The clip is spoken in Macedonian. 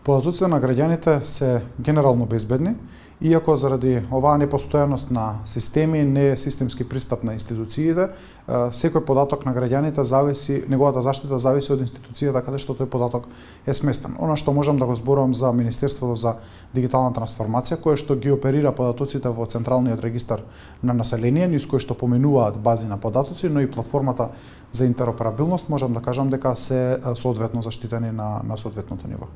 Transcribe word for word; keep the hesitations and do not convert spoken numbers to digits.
Податоците на граѓаните се генерално безбедни, иако заради оваа непостојаност на системи, не системски пристап на институциите, секој податок на граѓаните зависи, неговата заштита зависи од институцијата каде што тој податок е сместен. Она што можам да го зборувам за Министерството за дигитална трансформација, кое што ги оперира податоците во Централниот регистар на население, низ кој што поменуваат бази на податоци, но и платформата за интероперабилност, можам да кажам дека се соодветно заштитени на, на соодветното ниво.